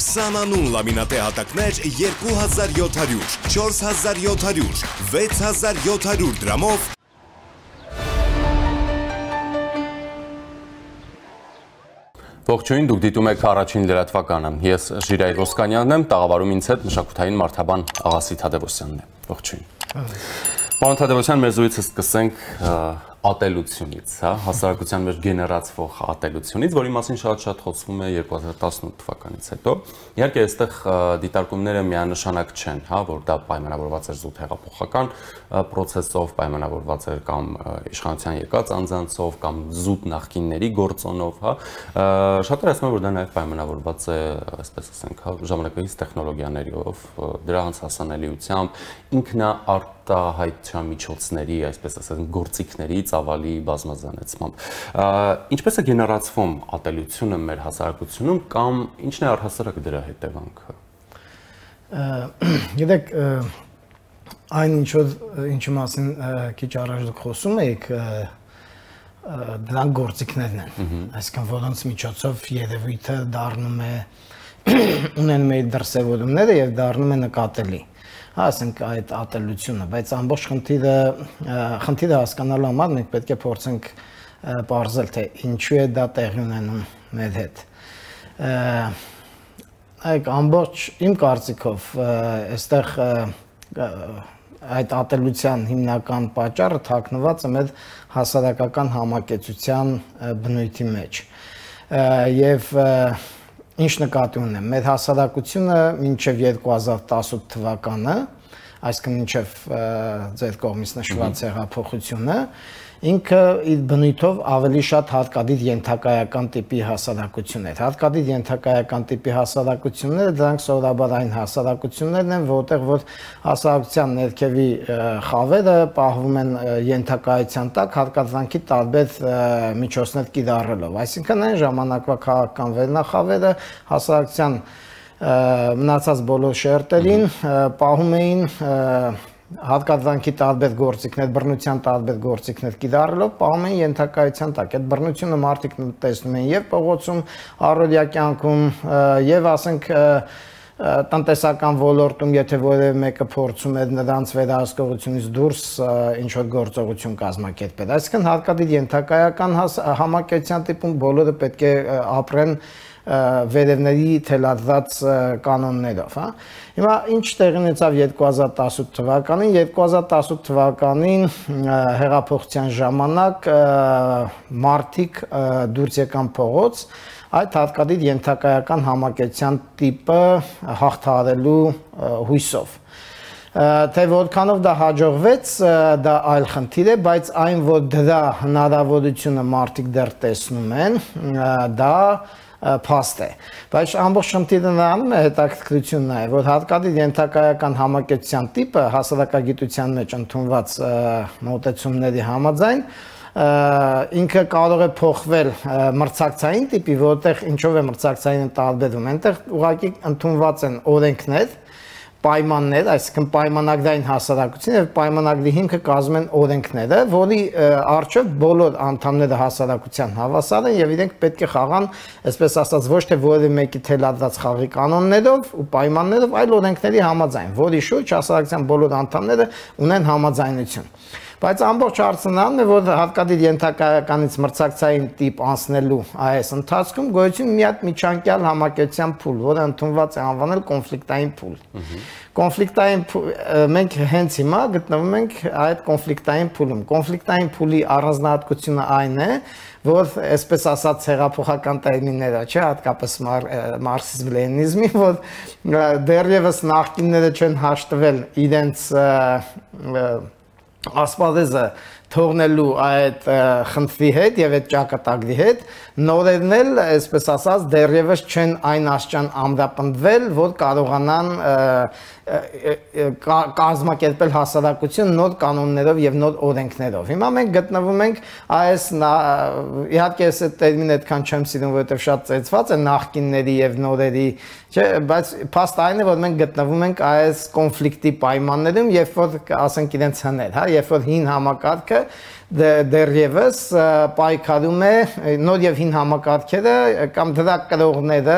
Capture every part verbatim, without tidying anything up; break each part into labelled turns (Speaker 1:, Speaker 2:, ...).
Speaker 1: քսանանուն լամինատե հատակներ երկու հազար յոթ հարյուր, չորս հազար յոթ հարյուր, վեց հազար յոթ հարյուր դրամով
Speaker 2: Ողջույն, դուք դիտում եք առաջին լրատվականը։ Ես Ժիրայր Ոսկանյանն եմ, տաղավարում ինձ հետ մշակութային մարդաբան Աղասի Թադևոսյանն է։ Ողջույն։ Պարոն Թադևոսյան, մեր զրույցը սկսենք ատելությունից, հա, հասարակության մեջ գեներացվող ատելությունից, որի մասին շատ-շատ խոսվում է երկու հազար տասնութ թվականից հետո։ Իհարկե, այստեղ դիտարկումները միանշանակ չեն, հա, որ դա պայմանավորված էր զուտ հեղափոխական պրոցեսով, պայմանավորված էր կամ իշխանության եկած անձանցով, կամ զուտ նախկինների գործոնով, հա։ Շատերը ասում են, որ դա նաև պայմանավորված է, այսպես ասենք, հա, ժամանակակից տեխնոլոգիաներով, դրանց հասանելիությամբ, ինքնաարտահայտության միջոցների, այսպես ասենք, գործիքների ծավալի բազմազանեցմամբ։ Ինչպես է գեներացվում ատելությունը մեր հասարակությունում կամ ինչն է առհասարակ դրա հետևանքը։
Speaker 3: Գիտեք, այն ինչի մասին քիչ առաջ դուք խոսում եք, դրանք գործիքներն են, այսինքն որոնց միջոցով երևույթը դառնում է ունենում է դրսևորումները եւ դառնում է նկատելի։ Ասենք այդ ատելությունը, բայց ամբողջ խնդիրը խնդիրը հասկանալու համար մենք պետք է փորձենք պարզել, թե ինչու է դա տեղի ունենում մեր հետ։ Այդ ամբողջ իմ կարծիքով այստեղ այդ ատելության հիմնական պատճառը թաքնված է մեր հասարակական համակեցության բնույթի մեջ։ Եվ ինչ նկատի ունեմ, մեր հասարակությունը մինչև երկու հազար տասութ թվականը, այսինքն մինչև ձեր կողմից նշված հեղափոխությունը, ինքը իր բնույթով ավելի շատ հարկադիր ենթակայական տիպի հասարակություն էր։ Հարկադիր ենթակայական տիպի հասարակությունները դրանք սովորաբար այն հասարակություններն են, որտեղ որ հասարակության ներքևի խավերը պահվում են ենթակայության տակ հարկադրանքի տարբեր միջոցներ կիրառելով։ Այսինքն այն ժամանակվա քաղաքական վերնախավերը հասարակության մնացած բոլոր շերտերին պահում էին հարկադրանքի տարբեր գործիքներ, բռնության տարբեր գործիքներ կիրառելով պահում են ենթակայության տակ։ Այդ բռնությունը մարդիկ տեսնում են եւ փողոցում, առօրյա կյանքում, եւ ասենք տնտեսական ոլորտում, եթե որևէ մեկը փորձում է նրանց վերահսկողությունից դուրս ինչ որ գործողություն կազմակերպել։ Այսինքն հարկադիր ենթակայական համակեցության տիպում բոլորը պետք է ապրեն վերևների թելադրած կանոններով, հա։ Հիմա ինչ տեղի ունեցավ երկու հազար տասութ թվականին, երկու հազար տասութ թվականին հեղափոխության ժամանակ մարդիկ դուրս եկան փողոց այդ հարկադիր ենթակայական համակեցության տիպը հաղթահարելու հույսով։ Թե որքանով դա հաջողվեց, դա այլ խնդիր է, բայց այն, որ դրա հնարավորությունը մարդիկ դեռ տեսնում են, դա փաստ է, բայց ամբողջ խնդիրը նրանում է հետաքրքրությունն է, որ հարկադիր ենթակայական համակեցության տիպը հասարակագիտության մեջ ընդունված մոտեցումների համաձայն ինքը կարող է փոխվել մրցակցային տիպի, որտեղ ինչով է մրցակցային տարբերում, այնտեղ ուղղակի ընդունված են օրենքներ, պայմաններ, այսինքն պայմանագրային հասարակություն եւ պայմանագրի հիմքը կազմում են օրենքները, որի առջեւ բոլոր անդամները հասարակության հավասար են եւ իրենք պետք է խաղան, այսպես ասած, ոչ թե որևէ մեկի թելադրած խաղի կանոններով ու պայմաններով, այլ օրենքների համաձայն, որի շուրջ հասարակության բոլոր անդամները ունեն համաձայնություն։ Բայց ամբողջ հարցը նրան է, որ հարկադիր ենթակայականից մրցակցային տիպ անցնելու այս ընթացքում գոյություն մի հատ միջանկյալ համակեցության փուլ, որը ընդունված է անվանել կոնֆլիկտային փուլ։ Կոնֆլիկտային մենք հենց հիմա գտնվում ենք այդ կոնֆլիկտային փուլում։ Կոնֆլիկտային փուլի առանձնահատկությունը այն է, որ այսպես ասած հեղափոխական տերմինները, չէ, հատկապես մարքսիզմ-լենինիզմի, որ դեռևս նախկինները չեն հաշտվել իրենց ասպարեզը թողնելու այդ խնդրի հետ եւ այդ ճակատագրի հետ, նորերն էլ, այսպես ասած, դեռևս չեն այն աստիճան ամրապնդվել, որ կարողանան կազմակերպել հասարակություն նոր կանոններով եւ նոր օրենքներով։ Հիմա մենք գտնվում ենք այս իհարկե այս տերմինը այդքան չեմ սիրում, որովհետեւ շատ ծեծված է նախկինների եւ նորերի, չէ, բայց փաստ այն է, որ մենք գտնվում ենք այս կոնֆլիկտի պայմաններում, երբ որ ասենք իրենց հներ, հա, երբ որ հին համակարգը դեռևս պայքարում է նոր եւ հին համակարգերը կամ դրա կրողները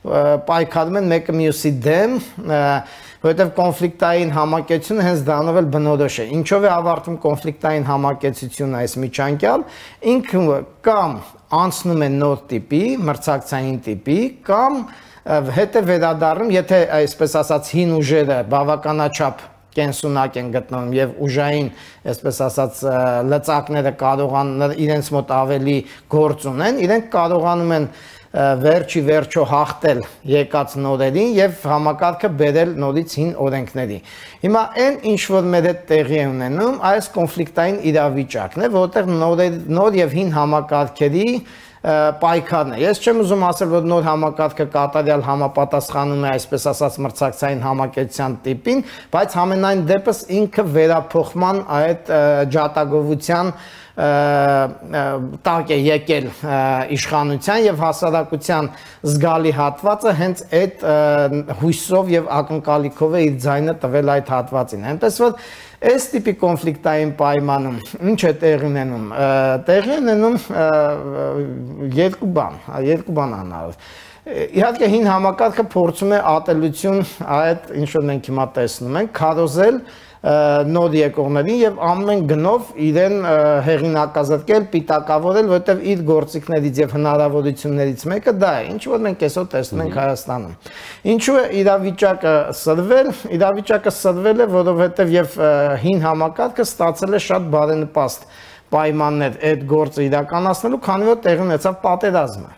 Speaker 3: պայքարում են մեկը մյուսի դեմ, որովհետև կոնֆլիկտային համակեցությունը հենց դրանով էլ բնորոշ է։ Ինչով է ավարտվում կոնֆլիկտային համակեցությունը այս միջանկյալ, ինքը կամ անցնում է նոր տիպի, մրցակցային տիպի, կամ հետո վերադառնում, եթե այսպես ասած հին ուժերը բավականաչափ կենսունակ են գտնվում եւ ուժային, այսպես ասած, լծակները կարողան իրենց մոտ ավելի գործ ունեն, իրենք կարողանում են վերջի վերջո հաղթել եկած նորերին եւ համակարգը բերել նորից հին օրենքների։ Հիմա այն ինչ որ մեր հետ տեղի է ունենում, այս կոնֆլիկտային իրավիճակն է, որտեղ նոր եւ հին համակարգերի պայքարն է։ Ես չեմ ուզում ասել, որ նոր համակարգը կատարյալ համապատասխանում է այսպես ասած մրցակցային համակեցության տիպին, բայց համենայն դեպս ինքը վերափոխման այդ ջատագովության տակ է եկել իշխանության եւ հասարակության զգալի հատվածը հենց այդ հույսով եւ ակնկալիքով է իր ձայնը տվել այդ հատվածին։ Այնպես որ այս տիպի կոնֆլիկտային պայմանում ինչ է տեղի ունենում։ Տեղի ունենում երկու բան, երկու բան անալով։ Իհարկե հին համակարգը փորձում է ատելություն այդ ինչ որ մենք հիմա տեսնում ենք, քարոզել նոր եկողներին եւ ամեն գնով իրեն հեղինակազրկել, պիտակավորել, որովհետեւ իր գործիքներից եւ հնարավորություններից մեկը դա է, ինչ որ մենք այսօր տեսնում ենք Հայաստանում։ Ինչու է իրավիճակը սրվել, իրավիճակը սրվել է, որովհետեւ եւ հին համակարգը ստացել է շատ բարենպաստ պայմաններ այդ գործը իրականացնելու, քանի որ տեղի ունեցավ պատերազմը։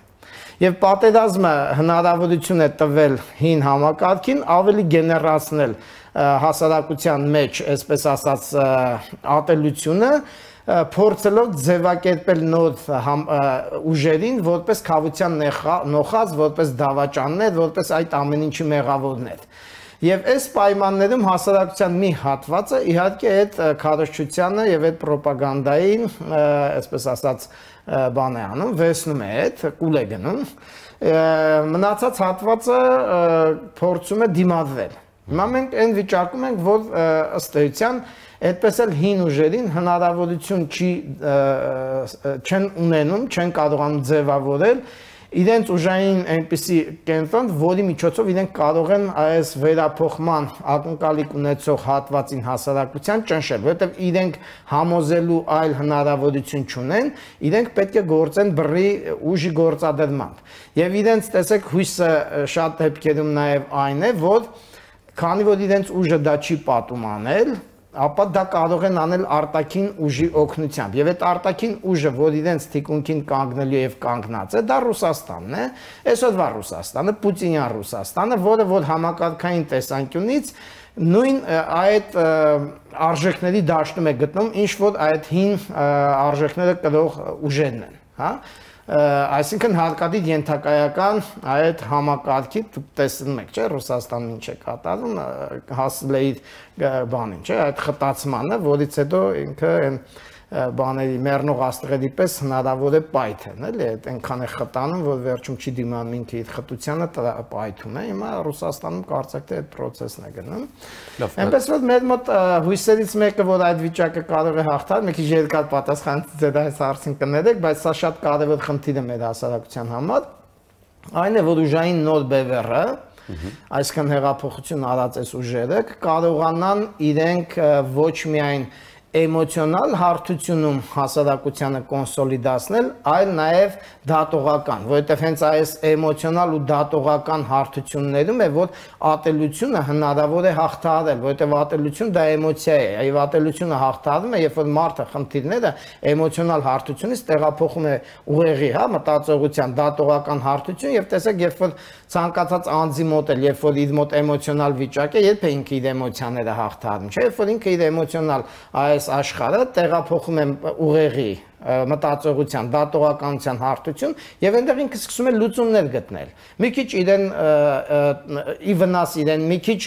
Speaker 3: Եվ պատերազմը հնարավորություն է տվել հին համակարգին ավելի գեներացնել հասարակության մեջ, այսպես ասած, ատելությունը, փորձելով ձևակերպել նոր ուժերին որպես քավության նոխած, որպես դավաճաններ, որպես այդ ամեն ինչի մեղավորներ։ Եվ այս պայմաններում հասարակության մի հատվածը իհարկե այդ քարոզչությանը եւ այդ ռոպագանդային, այսպես ասած, բան է անում, վերցնում է այդ, կուլ է գնում, մնացած հատվածը փորձում է դիմադրել։ Հիմա մենք այն վիճակում ենք, որ ըստ էության այդպես էլ հին ուժերին հնարավորություն չի չեն ունենում, չեն կարողանում ձևավորել իրենց ուժային այնպիսի կենտրոն, որի միջոցով իրենք կարող են այս վերափոխման ակնկալիք ունեցող հատվածին հասարակության ճնշել, որովհետև իրենք համոզելու այլ հնարավորություն չունեն, իրենք պետք է գործեն բռի ուժի գործադրմամբ։ Եվ իրենց տեսեք հույսը շատ դեպքերում նաև այն է, որ քանի որ իրենց ուժը դա չի պատում անել, ապա դա կարող են անել արտաքին ուժի օգնությամբ։ Եվ այդ արտաքին ուժը, որ իրենց թիկունքին կանգնելու եւ կանգնած է, դա Ռուսաստանն է, այսօրվա Ռուսաստանը, Պուտինյան Ռուսաստանը, որը որ համակարգային տեսանկյունից նույն այդ արժեքների դաշտում է գտնում, ինչ որ այդ հին արժեքները կրող ուժերն են, հա։ Այսինքն հարկադիր ենթակայական այդ համակարգի դուք տեսնում եք, չէ, Ռուսաստանը ինչ է կատարում, հասել է իր բանին, չէ, այդ խտացմանը, որից հետո ինքը այն բաների մեռնող աստղերի պես հնարավոր է պայթեն, էլի, այդ այնքան է խտանում, որ վերջում չի դիմանում ինքը իր խտությանը պայթում է, հիմա Ռուսաստանում կարծեք թե այդ process-ն է գնում։ Այնպես որ մեր մոտ հույսերից մեկը, որ այդ վիճակը կարող է հաղթալ, մի քիչ երկար պատասխան ձեր այս հարցին կներեք, բայց սա շատ կարևոր խնդիր է մեր հասարակության համար, այն է, որ ուժային նոր բևեռը, այսքան հեղափոխություն արած այս ուժերը կարողանան իրենք ոչ միայն էմոցիոնալ հարթությունում հասարակությանը կոնսոլիդացնել, այլ նաև դատողական, որովհետև հենց այս էմոցիոնալ ու դատողական հարթություններում է, որ ատելությունը հնարավոր է հաղթահարել, որովհետև ատելություն դա էմոցիա է, եւ ատելությունը հաղթահարվում է, երբ որ մարդը խնդիրները էմոցիոնալ հարթությունից տեղափոխում է ուղեղի, հա, մտածողության դատողական հարթություն, եւ տեսեք, երբ որ ցանկացած անձի մոտ էլ, երբ որ իր մոտ էմոցիոնալ վիճակ է, երբ է ինքը իր էմոցիաները հաղթահարում, չէ՞, երբ որ ինքը իր էմոցիոնալ այս աշխարհը տեղափոխում է ուղեղի մտածողության, դատողականության հարթություն եւ այնտեղ ինքը սկսում է լուծումներ գտնել։ Մի քիչ իրեն ի վնաս իրեն, մի քիչ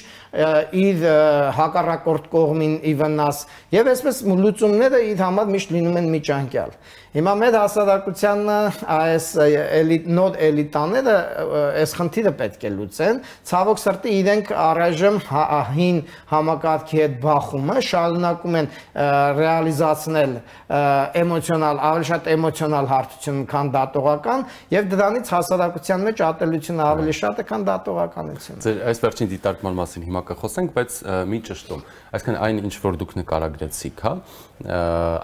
Speaker 3: իր հակառակորդ կողմին ի վնաս եւ այսպես լուծումները իր համար միշտ լինում են միջանկյալ։ Հիմա մեր հասարակությանը այս էլիտ նոր էլիտաները այս խնդիրը պետք է լուծեն, ցավոք սրտի իրենք առայժմ հին համակարգի հետ բախումը շարունակում են ռեալիզացնել էմոցիոնալ էմոցիոնալ, ավելի շատ էմոցիոնալ հարթություն, քան դատողական, եւ դրանից հասարակության մեջ ատելությունը ավելի շատ է, քան դատողականությունը։
Speaker 2: Ձեր այս վերջին դիտարկման մասին հիմա կխոսենք, բայց մի ճշտում, այսինքն այն ինչ որ դուք նկարագրեցիք, հա,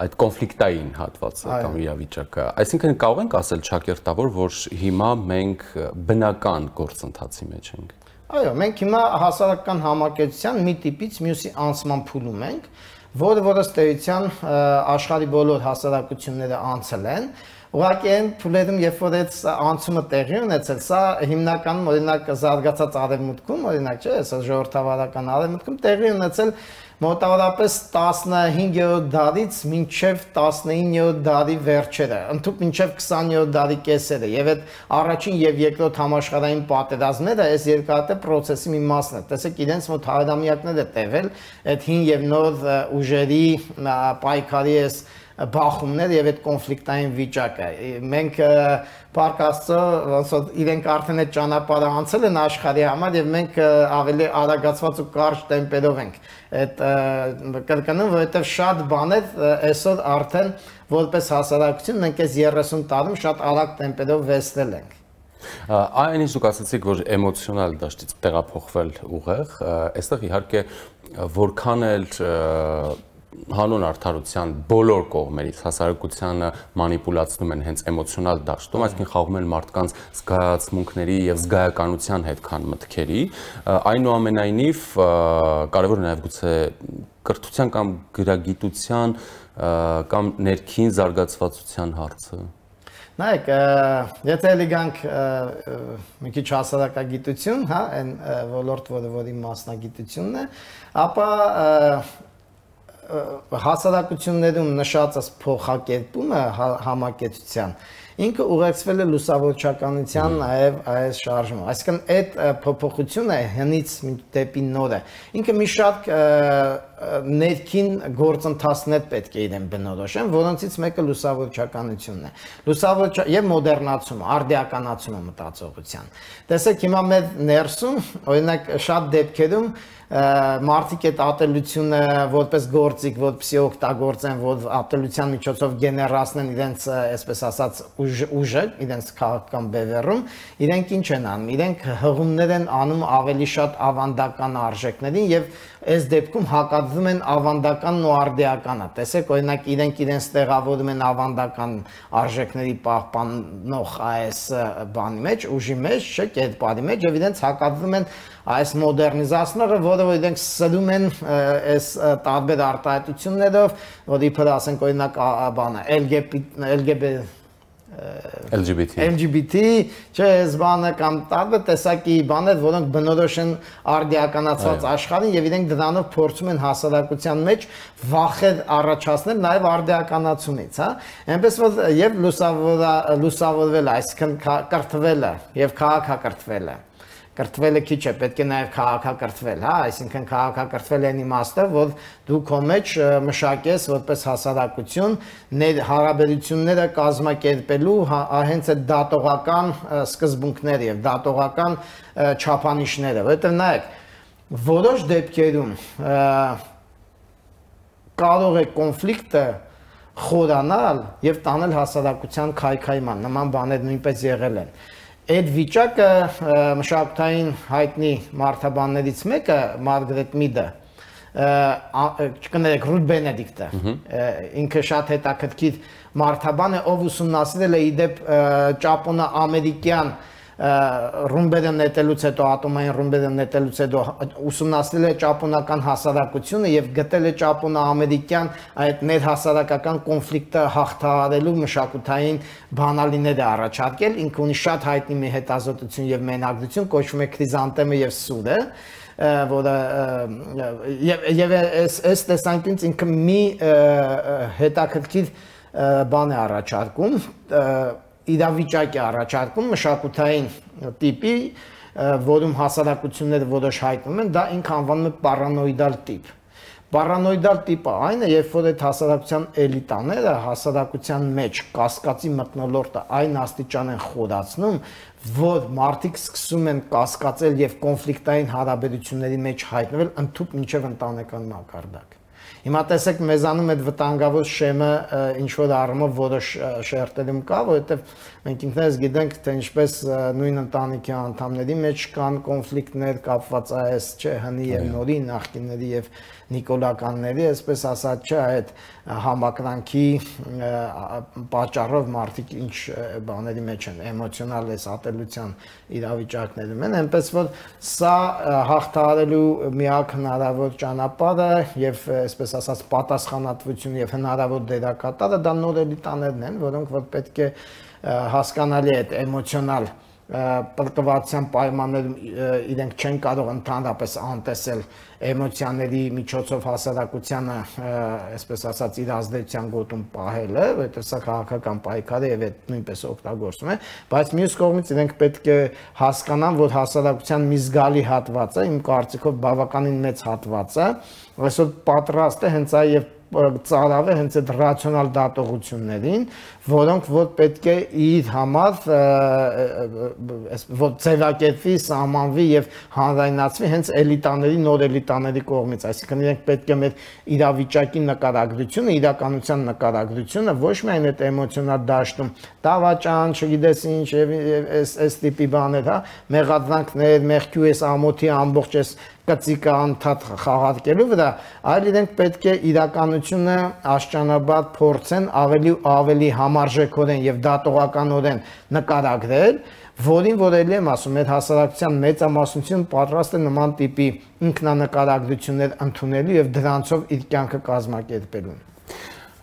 Speaker 2: այդ կոնֆլիկտային հատվածը կամ իրավիճակը, այսինքն կարող ենք ասել ճակերտավոր, որ հիմա մենք բնական գործընթացի մեջ ենք։
Speaker 3: Այո, մենք հիմա հասարակական համակեցության մի տիպից մյուսի անցման փուլում ենք, որը որը ստեյության աշխարհի բոլոր հասարակությունները անցել են, ուղղակի այն փուլերում, երբ որ այդ անցումը տեղի ունեցել, սա հիմնականում օրինակ զարգացած արևմուտքում, օրինակ չէ, սա ժողովրդավարական արևմուտքում տեղի ունեցել մոտավորապես տասնհինգերորդ դարից մինչև տասնիններորդ դարի վերջերը, ընդհանուր մինչև քսաներորդ դարի կեսերը, եւ այդ առաջին եւ երկրորդ համաշխարհային պատերազմները այս երկարատև process-ի մի մասն է։ Տեսեք, իրենց մոտ հարյուրամյակներ է տևել այդ հին եւ նոր ուժերի պայքարի այս բախումներ եւ այդ կոնֆլիկտային վիճակը։ Մենք Փառք Աստծո, ոնց որ իրենք արդեն այդ ճանապարհը անցել են աշխարհի համար եւ մենք ավելի արագացված ու կարճ տեմպերով ենք այդ կրկնում, որովհետեւ շատ բաներ այսօր արդեն որպես հասարակություն մենք այս երեսուն տարում շատ արագ տեմպերով վերցնել ենք։
Speaker 2: Այն ինչ դուք ասացիք, որ էմոցիոնալ դաշտից տեղափոխվել ուղեղ, այստեղ իհարկե որքան էլ հանուն արդարության բոլոր կողմերից հասարակությանը մանիպուլացնում են հենց էմոցիոնալ դաշտում, այսինքն խաղում են մարդկանց զգացմունքների եւ զգայականության հետ, քան մտքերի, այնուամենայնիվ կարևոր է նաեւ գուցե կրթության կամ գրագիտության կամ ներքին զարգացվածության հարցը։
Speaker 3: Նայեք, եթե էլի գանք մի քիչ հասարակագիտություն, հա, այն ոլորտ, որը որի մասնագիտությունն է, ապա հասարակություններում նշածս փոխակերպումը համակեցության ինքը ուղեկցվել է լուսավորչականության նաև այս շարժումը, այսինքն այդ փոփոխությունը հնից դեպի նորը ինքը մի շատ ներքին գործընթացներ պետք է իրեն բնորոշեն, որոնցից մեկը լուսավորչականությունն է, լուսավորչ եւ մոդեռնացումը, արդիականացումը մտածողության։ Տեսեք, հիմա մեր ներսում, օրինակ շատ դեպքերում մարդիկ այդ ատելությունը որպես գործիք, որպեսզի օգտագործեն, որ ատելության միջոցով գեներացնեն իրենց, այսպես ասած, ուժը, իրենց քաղաքական բևեռում, իրենք ինչ են անում, իրենք հղումներ են անում ավելի շատ ավանդական արժեքներին եւ այս դեպքում հակադրում են ավանդականն ու արդիականը։ Տեսեք, օրինակ իրենք իրենց տեղավորում են ավանդական արժեքների պահպանող այս բանի մեջ, ուժի մեջ, չէ, կերպարի մեջ եւ իրենց հակադրում են այս մոդեռնիզացնողը, որը որ իրենք սրում են այս տարբեր արտահայտություններով, որ իբր ասենք օրինակ բանը L G B
Speaker 2: L G B T
Speaker 3: L G B T, չէ, այս բանը կամ տարբեր տեսակի բաներ, որոնք բնորոշ են արդիականացված աշխարհին եւ իրենք դրանով փորձում են հասարակության մեջ վախեր առաջացնել նաեւ արդիականացումից, հա։ Այնպես որ եւ լուսավորվել, այսինքն կրթվելը եւ քաղաքակրթվելը կրթվելը քիչ է, պետք է նաև քաղաքակրթվել, հա, այսինքն քաղաքակրթվել են իմաստը, որ դու քո մեջ մշակես որպես հասարակություն հարաբերությունները կազմակերպելու հենց այդ դատողական սկզբունքները եւ դատողական չափանիշները, որովհետեւ նայեք, որոշ դեպքերում կարող է կոնֆլիկտը խորանալ եւ տանել հասարակության քայքայման, նման բաներ նույնպես եղել են։ Այդ վիճակը մշակութային հայտնի մարդաբաններից մեկը Մարգարետ Միդը, չկներեք, Ռութ Բենեդիկտը, ինքը շատ հետաքրքիր մարդաբան է, ով ուսումնասիրել է իդեպ ճապոնա-ամերիկյան ռումբերը նետելուց հետո, ատոմային ռումբերը նետելուց հետո ուսումնասիրել է ճապոնական հասարակությունը եւ գտել է ճապոնա-ամերիկյան այդ ներհասարակական կոնֆլիկտը հաղթահարելու մշակութային բանալիները առաջարկել, ինքը ունի շատ հայտնի մի հետազոտություն եւ մենակցություն, կոչվում է Քրիզանտեմը եւ Սուրը, որը եւ այս տեսանկյունից ինքը մի հետաքրքիր բան է առաջարկում, իրավիճակ է առաջարկում մշակութային տիպի, որում հասարակությունները որոշ հայտնում են, դա ինքը անվանում է պարանոիդալ տիպ։ Պարանոիդալ տիպը այն է, երբ որ այդ հասարակության էլիտաները հասարակության մեջ կասկածի մթնոլորտը այն աստիճան են խորացնում, որ մարդիկ սկսում են կասկածել եւ կոնֆլիկտային հարաբերությունների մեջ հայտնվել ընդհանուր մինչեւ ընտանեկան մակարդակ։ Հիմա տեսեք մեզանում այդ վտանգավոր շեմը ինչ որ առումով որոշ շերտերում կա, որովհետև մենք ինքներս գիտենք, թե ինչպես նույն ընտանիքի անդամների մեջ կան կոնֆլիկտներ կապված այս չէ հնի եւ նորի նախկինների եւ նիկոլականների, այսպես ասած չէ, այդ համակրանքի պատճառով մարդիկ ինչ բաների մեջ են, էմոցիոնալ այս ատելության իրավիճակներում են, այնպես որ սա հաղթահարելու միակ հնարավոր ճանապարհը եւ այսպես ասած պատասխանատվություն եւ հնարավոր դերակատարը դա նոր էլիտաներն են, որոնք որ պետք է հասկանալի այդ էմոցիոնալ պրկվածության պայմաններում իրենք չեն կարող ընդհանրապես անտեսել էմոցիաների միջոցով հասարակությանը, այսպես ասած, իր ազդեցության գոտում պահելը, որովհետև սա քաղաքական պայքար է եւ այդ նույնպես օգտագործում է, բայց մյուս կողմից իրենք պետք է հասկանան, որ հասարակության մի զգալի հատվածը, իմ կարծիքով բավականին մեծ հատվածը, այսօր պատրաստ է հենց այ եւ ծարավ է հենց այդ ռացիոնալ դատողություններին, որոնք որ պետք է իր համար որ ձևակերպվի, սահմանվի եւ հանրայնացվի հենց էլիտաների, նոր էլիտաների կողմից, այսինքն իրենք պետք է մեր իրավիճակի նկարագրությունը, իրականության նկարագրությունը ոչ միայն այդ էմոցիոնալ դաշտում, դավաճան, չգիտես ինչ եւ այս այս տիպի բաներ, հա, մեղադրանքներ, մեղքի այս ամոթի ամբողջ այս կծիկը անդադ խաղարկելու վրա, այլ իրենք պետք է իրականությունը աշճանաբար փորձեն ավելի ավելի համարժեքորեն եւ դատողականորեն նկարագրել, որին որ էլի եմ ասում, այդ հասարակության մեծամասնությունը պատրաստ է նման տիպի ինքնանկարագրություններ ընդունելու եւ դրանցով իր կյանքը կազմակերպելու։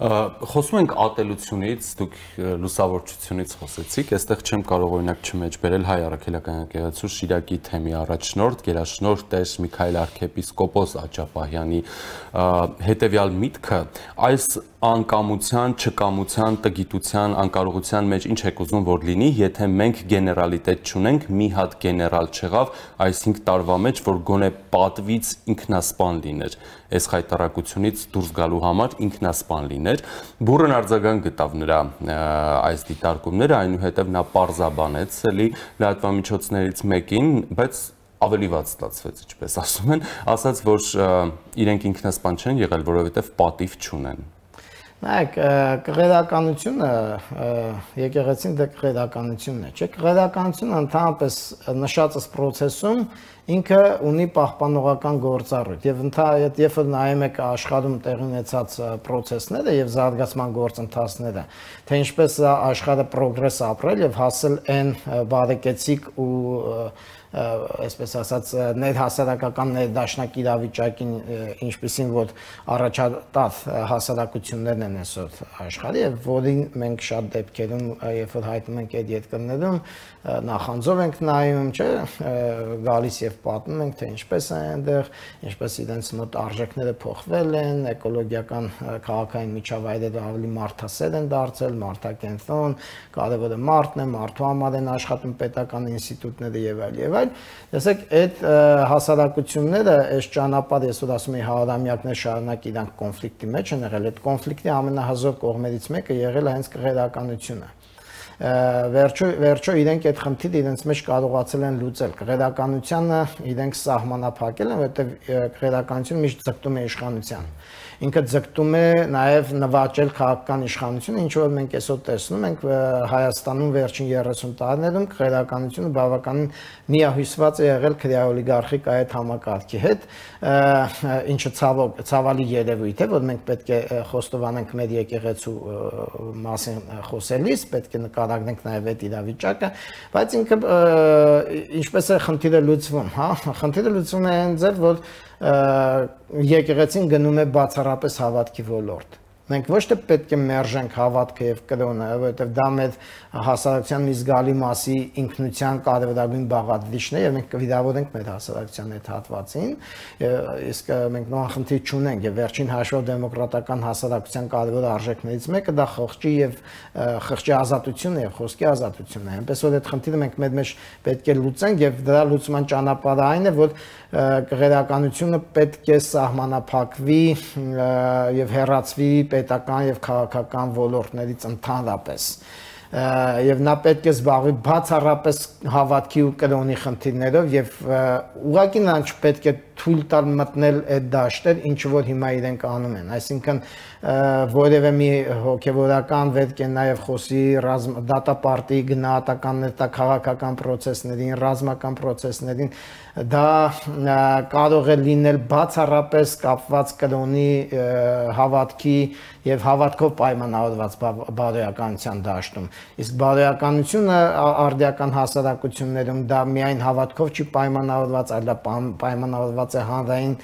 Speaker 2: Խոսում ենք ատելությունից, դուք լուսավորչությունից խոսեցիք, այստեղ չեմ կարող օրինակ չմեջբերել Հայ Առաքելական եկեղեցու Շիրակի թեմի առաջնորդ, գերաշնորհ Տեր Միքայել arczepiskopos Աճապահյանի հետևյալ միտքը, այս անկամության, չկամության, տգիտության, անկարողության մեջ ինչ եք ուզում որ լինի, եթե մենք գեներալիտետ չունենք, մի հատ գեներալ չեղավ այս հինգ տարվա մեջ, որ գոնե պատվից ինքնասպան լիներ, այս խայտարակությունից դուրս գալու համար ինքնասպան լիներ, բուրըն արձագանք գտավ նրա այս դիտարկումները, այնուհետև նա պարզաբանեց էլի լրատվամիջոցներից մեկին, բայց ավելի վատ ստացվեց, ինչպես ասում են, ասաց, որ իրենք ինքնասպան չեն եղել, որովհետև պատիվ չունեն։
Speaker 3: Նայեք, կղերականությունը, եկեղեցին դե կղերականությունն է, չէ, կղերականությունը ընդհանրապես նշածս պրոցեսում ինքը ունի պահպանողական գործառույթ եւ ընդհանրապես երբ որ նայում եք աշխարհում տեղի ունեցած պրոցեսները եւ զարգացման գործընթացները, թե ինչպես աշխարհը պրոգրես ապրել եւ հասել այն բարեկեցիկ ու այսպես ասած ներհասարակական ներդաշնակ իրավիճակին, ինչպեսին որ առաջատար հասարակություններն են այսօր աշխարհի եւ որին մենք շատ դեպքերում երբ որ հայտնում ենք այդ երկրներում նախանձով ենք նայում, չէ, գալիս եւ պատմում ենք թե ինչպես է այնտեղ, ինչպես իրենց մոտ արժեքները փոխվել են, էկոլոգիական քաղաքային միջավայրերը ավելի մարդասեր են դարձել, մարդակենտրոն, կարևորը մարդն է, մարդու համար են աշխատում պետական ինստիտուտները եւ այլ եւ այլ։ Տեսեք, այդ հասարակությունները, այս ճանապարհը, ես որ ասում եմ հարամյակներ շարունակ իրանք կոնֆլիկտի մեջ են եղել, այդ կոնֆլիկտի ամենահզոր կողմերից մեկը եղել է հենց կղերականությունը։ Վերջո վերջո իրենք այդ խնդիրը իրենց մեջ կարողացել են լուծել։ Կղերականությունը իրենք սահմանափակել են, որովհետև կղերականությունը միշտ ձգտում է իշխանության։ Ինքը ձգտում է նաև նվաճել քաղաքական իշխանությունը, ինչ որ մենք այսօր տեսնում ենք Հայաստանում վերջին երեսուն տարիներում կղերականությունը բավականին միահյուսված է եղել քրեաօլիգարխիկ այդ համակարգի հետ, ինչը ցավալի երևույթ է, որ մենք պետք է խոստովանենք մեր եկեղեցու մասին խոսելիս, պետք է նկարագրենք նաև այդ իրավիճակը, բայց ինքը ինչպես է խնդիրը լուծվում, հա, խնդիրը լուծվում է այն ձև, որ եկեղեցին գնում է բացառապես հավատքի ոլորտ։ Մենք ոչ թե պետք է մերժենք հավատքը եւ կրոնը, որովհետեւ դա մեր հասարակության մի զգալի մասի ինքնության կարևորագույն բաղադրիչն է եւ մենք կվիրավորենք մեր հասարակության այդ հատվածին, իսկ մենք նույն խնդիր չունենք եւ վերջին հաշվով դեմոկրատական հասարակության կարևոր արժեքներից մեկը դա խղճի եւ խղճի ազատությունն է եւ խոսքի ազատությունն է։ Այնպես որ այդ խնդիրը մենք մեր մեջ պետք է լուծենք եւ դրա լուծման ճանապարհը այն է, որ կղերականությունը պետք է սահմանափակվի եւ հեռացվի պետական եւ քաղաքական ոլորտներից ընդհանրապես, եւ նա պետք է զբաղվի բացառապես հավատքի ու կրոնի խնդիրներով եւ ուղղակի նա չպետք է թույլ տալ մտնել այդ դաշտեր, ինչ որ հիմա իրենք անում են, այսինքն որևէ մի հոգեվորական պետք է նաեւ խոսի դատապարտի գնահատականներ տա քաղաքական process-ներին, ռազմական process-ներին, դա կարող է լինել բացառապես կապված կրոնի հավատքի եւ հավատքով պայմանավորված բարոյականության դաշտում, իսկ բարոյականությունը արդիական հասարակություններում դա միայն հավատքով չի պայմանավորված, այլ պայմանավորված է հանրային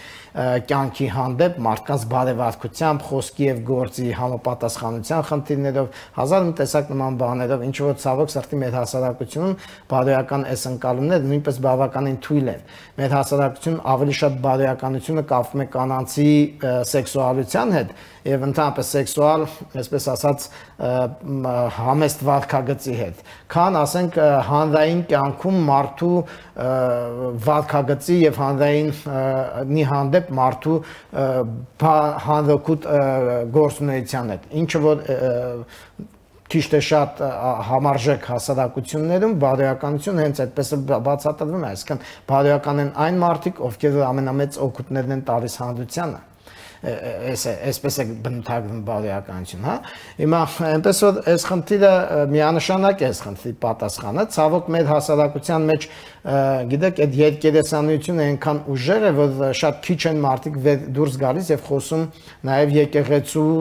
Speaker 3: կյանքի հանդեպ մարդկանց բարեվարկությամբ, խոսքի եւ գործի համապատասխանության խնդիրներով, հազար մի տեսակ նման բաներով, ինչ որ ցավոք սրտի մեր հասարակությունում բարոյական այս ընկալումները նույնպես բավականին թույլ են։ Մեր հասարակությունում ավելի շատ բարոյականությունը կապվում է կանանցի սեքսուալության հետ եւ ընդհանրապես սեքսուալ, այսպես ասած, համեստ վարքագծի հետ, քան ասենք հանրային կյանքում մարդու վարքագծի եւ հանրային մի հանդեպ մարդու հանրօգուտ գործունեության հետ, ինչը որ քիչ թե շատ համարժեք հասարակություններում բարոյականությունը հենց այդպես բացատրվում է, այսինքն բարոյական են այն մարդիկ, ովքեր ամենամեծ օգուտներն են տալիս հանրությանը, այսպես է բնութագրվում բարոյականություն, հա։ Հիմա այնպես որ այս խնդիրը միանշանակ է այս խնդրի պատասխանը, ցավոք մեր հասարակության մեջ գիտեք այդ երկերեսանությունը այնքան ուժեղ է, որ շատ քիչ են մարդիկ դուրս գալիս եւ խոսում նաեւ եկեղեցու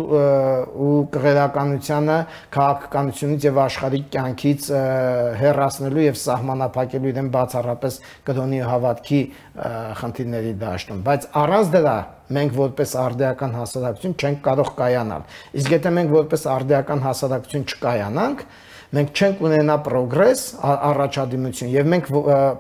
Speaker 3: ու կղերականությանը, քաղաքականությունից եւ աշխարհիկ կյանքից հեռացնելու եւ սահմանափակելու իրեն բացառապես կրոնի հավատքի խնդիրների դաշտում, բայց առանց դրա մենք որպես արդիական հասարակություն չենք կարող կայանալ։ Իսկ եթե մենք որպես արդիական հասարակություն չկայանանք, մենք չենք ունենա պրոգրես, առաջադիմություն եւ մենք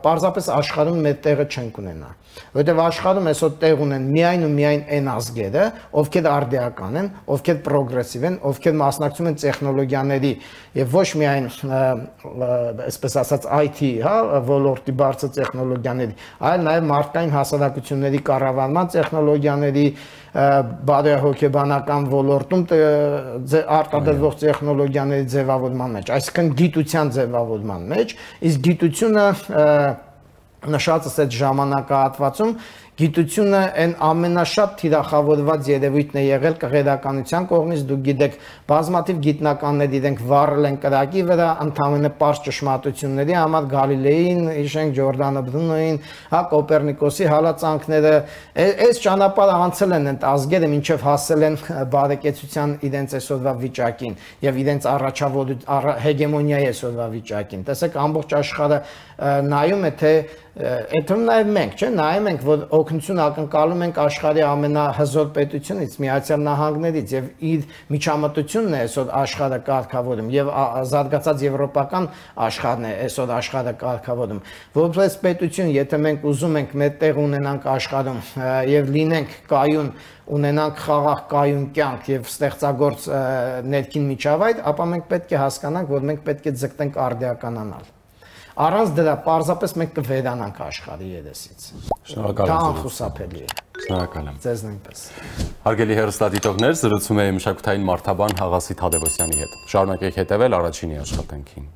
Speaker 3: պարզապես աշխարհում մեր տեղը չենք ունենա, որովհետեւ աշխարհում այսօր տեղ ունեն միայն ու միայն այն ազգերը, ովքեր արդիական են, ովքեր պրոգրեսիվ են, ովքեր մասնակցում են տեխնոլոգիաների եւ ոչ միայն այսպես ասած I T, հա, ոլորտի բարձր տեխնոլոգիաների, այլ նաեւ մարդկային հասարակությունների կառավարման տեխնոլոգիաների, բարոյահոգեբանական ոլորտում արտադրվող տեխնոլոգիաների ձևավորման մեջ, այսինքն գիտության ձևավորման մեջ, իսկ գիտությունը նշածս այդ ժամանակահատվածում գիտությունը այն ամենաշատ թիրախավորված երևույթն է եղել կղերականության կողմից, դուք գիտեք, բազմաթիվ գիտնականներ իրենք վառել են կրակի վրա, ընդամենը պարզ ճշմարտությունների համար Գալիլեին, հիշենք Ջորդանը Բրունոին, հա Կոպերնիկոսի հալածանքները, այս ճանապարհը անցել են այդ ազգերը, մինչև հասել են բարեկեցության իրենց այսօրվա վիճակին եւ իրենց առաջավոր հեգեմոնիայի այսօրվա վիճակին։ Տեսեք, ամբողջ աշխարհը նայում է, թե Այդում նաև մենք, չէ, նայում ենք, որ օգնություն ակնկալում ենք աշխարհի ամենահզոր պետությունից, Միացյալ Նահանգներից եւ իր միջամտությունն է այսօր աշխարհը կարգավորում եւ զարգացած եվրոպական աշխարհն է այսօր աշխարհը կարգավորում։ Որպես պետություն, եթե մենք ուզում ենք մեր տեղ ունենանք աշխարհում եւ լինենք կայուն, ունենանք խաղաղ կայուն կյանք եւ ստեղծագործ ներքին միջավայր, ապա մենք պետք է հասկանանք, որ մենք պետք է ձգտենք արդիականանալ։ Առանց դրա պարզապես մենք կվերանանք աշխարհի երեսից։
Speaker 2: Շնորհակալ եմ։
Speaker 3: Դա անխուսափելի է։
Speaker 2: Շնորհակալ եմ։
Speaker 3: Ձեզ նույնպես։
Speaker 2: Հարգելի հեռուստադիտողներ, զրուցում էի մշակութային մարդաբան Աղասի Թադևոսյանի հետ։ Շարունակեք հետևել Առաջինի աշխատանքին։